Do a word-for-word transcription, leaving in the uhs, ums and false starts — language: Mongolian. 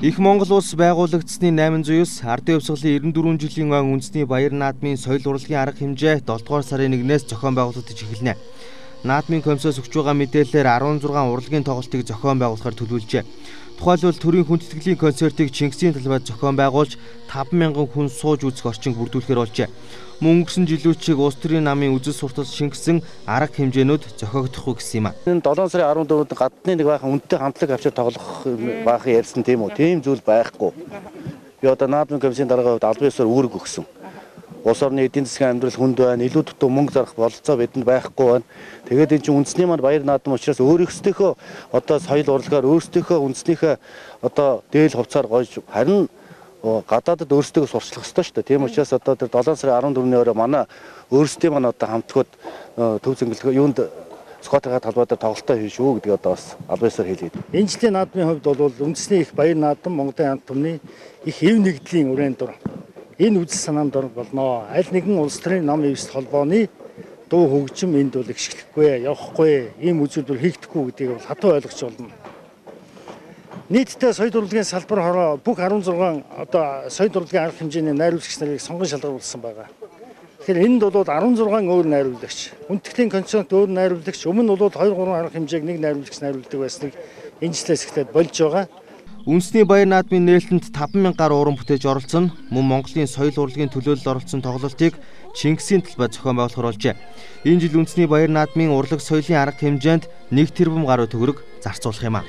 Их Монгол улс байгуулагдсны найман зуус ардын хувьсгалын эрдэнэ дөрвөн жилийн он үндэсний баяр наадмын соёл урлагийн арга хэмжээ долдугаар сарын нэгнээс зохион байгуулагдаж эхэлнэ. Наадмын комиссоос өгч байгаа мэдээлэлээр арван зургаан урлагийн тоглолтыг зохион байгуулахар төлөвлөжээ. Тухайлбал төрийн хүндэтгэлийн концертыг Чингисийн талбайд зохион байгуулж таван мянган хүн сууж үзэх орчинг бүрдүүлэхээр болжээ. Мөн өнгөрсөн жилүүчиг улс төрийн намын үзэл суртал шингэсэн арга хэмжээнүүд зохиогдохгүй гэсэн юм а. Энэ долоон сарын арван дөрөвд гадны нэг баахан үнэтэй хамтлаг авчир тоглох баахан ярьсан тийм үү? Тийм зүйл байхгүй. Би одоо наадмын комиссийн дараагийн хувьд албан ёсоор үүрэг өгсөн. Улс орны эдийн засгийн амьдрал хүнд байна, илүү дутуу мөнгө зарах бололцоо бидэнд байхгүй байна. Тэгээд энэ чинь үндэсний маань баяр наадам учраас өөрөөсдийнхөө одоо соёл урлагаар өөрсдийнхөө үндэснийхээ одоо дээл хувцаар гойж харин гадаадд өөрсдөө сурчлах ёстой шүү дээ. Тийм учраас одоо тэр долоон сарын арван дөрөвний өрөө манай өөрсдийн маань одоо хамтгууд төв зөнгөлгөө юунд Скотын талбай дээр тоглолтоо хийж шүү гэдэг одоо бас албан ёсоор хэлээд. Энэ жилийн наадмын хувьд бол үндэсний их баяр наадам Монголын хамт түмний их хэв нэгдлийн үрэн дур энэ үзэл санаанд ор болно. Аль нэгэн улс төрийн нам эвс холбооны дуу хөгжим энд бол ихшлэхгүй, явахгүй, ийм үзүүлбэр хийгдэхгүй гэдгийг бол хатуу ойлгож болно. Нийтдээ соёл урлагийн салбар хороо бүх арван зургаан одоо соёл урлагийн арга хэмжээний найруулагч нарыг сонгон шалгаруулсан байгаа. Тэгэхээр энд бол арван зургаан өөр найруулагч, хүндэтгэлийн концерт өөр найруулагч, өмнө бол хоёр гурван арга хэмжээг нэг найруулагч найруулдаг байсныг энэ жилээс эхлээд болж байгаа. Үндэсний баяр наадмын нээлтэнд таван мянга гаруй уран бүтээж оролцсон. Мөн Монголын соёл урлагийн төлөөлөл оролцсон тоглолтыг Чингисийн талбайд зохион байгуулахар болжээ. Энэ жил үндэсний баяр наадмын урлаг соёлын арга хэмжээнд нэг тэрбум гаруй төгрөг зарцуулах юм а.